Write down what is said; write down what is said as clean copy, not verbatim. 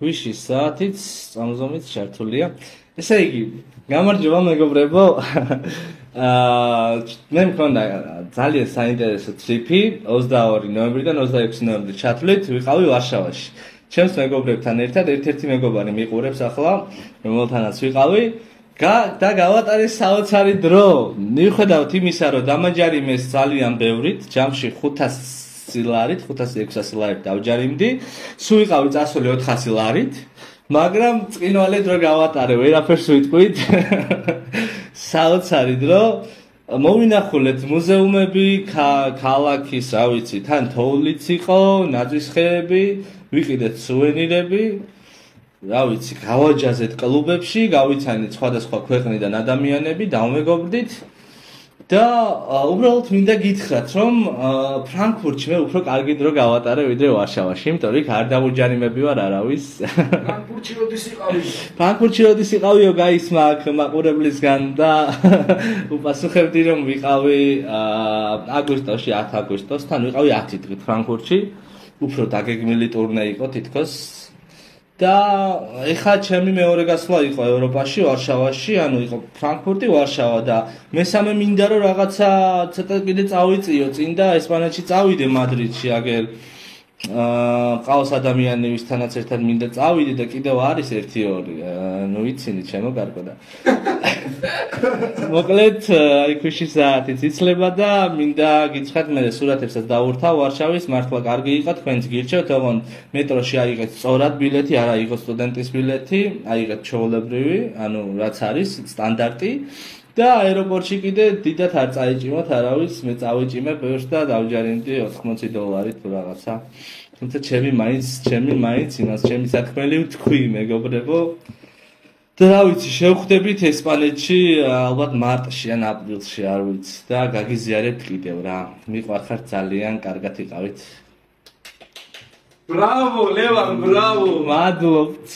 ქვიშის საათიც წამზომით ჩართულია. ესე იგი, გამარჯობა მეგობრებო. მე მქონდა ძალიან საინტერესო ტრიპი 22 ნოემბრიდან 26 ნოემბრი ჩათვლით, ვიყავი ვარშავაში. ჩემს მეგობრებთან ერთად ერთ-ერთი მეგობარი მიყურებს ახლა, რომელთანაც ვიყავი. და გავატარე საოცარი დრო. მიუხედავად იმისა, რომ დამაჯარიმეს ძალიან ბევრით, ჯამში 500 ლარით, 500-600 ლარით დავჯარიმდი. სულ ვიყავი წასული 400 ლარით, მაგრამ წინვალე დრო გავატარე, ვერაფერს ვიტყვით. საოცარი დრო. მოვინახულეთ მუზეუმები, ქალაქის, რა ვიცი, თან თოვლიც იყო, ნაძვისხეები, ვიყიდეთ სუვენირები. რა ვიცი, გავაჯაზეთ კლუბებში, გავიცანით სხვადასხვა ქვეყნიდან ადამიანები, დავმეგობრდით და უბრალოდ მინდა გითხრათ, რომ ფრანკფურტში მე უფრო კარგი დრო გავატარე ვიდრე ვარშავაში, იმიტომ რომ იქ არ დავუჯარიმები ვარ არავის. ფრანკფურტში როდის იყავი? ფრანკფურტში როდის იყავიო გაისმა აქ მაყურებლისგან და უპასუხებდი რომ ვიყავი აგვისტოში, 10 აგვისტოსთან ვიყავი 10 დღით ფრანკფურტში, უფრო დაგეგმილი ტურნე იყო თითქოს. და ეხლა ჩემი მეორე გასვლა იყო ევროპაში, ვარშავაში, ანუ იყო ფრანკფურტი, ვარშავა და მესამე მინდა რომ რაღაცა ცოტა კიდე წავიწიო წინ და ესპანეთში წავიდე მადრიდში, აგერ ყავს ადამიანი ვისთანაც ერთად მინდა წავიდე და კიდევ არის 1-2, ნუ ვიცინი ჩემო კარგო და მოკლედ აი ქვიშის საათიც იცლება და მინდა გითხრათ მე სურათებსაც დავურთავ ვარშავის, მართლა კარგი იყო, თქვენც გირჩევთ, თქო მეტროში აიღეთ სწორად ბილეთი, არა იყო სტუდენტის ბილეთი, აიღეთ ჩვეულებრივი, ანუ რაც არის სტანდარტი. და აეროპორტში კიდე დიდად არ წაიჭიმოთ, არავის, მე წავიჭიმე ბევრს და დავჯარიმდი 80 დოლარით თუ რაღაცა. თუმცა ჩემი მაინც იმას ჩემი საქმელი ვთქვი, მეგობრებო. და რა ვიცი, შევხვდებით ესპანეთში ალბათ მარტში ან აპრილში, არ ვიცი და გაგიზიარებთ კიდევ რა. მიყვარხართ ძალიან, კარგად იყავით. Bravo, Levan, bravo! მადლობთ.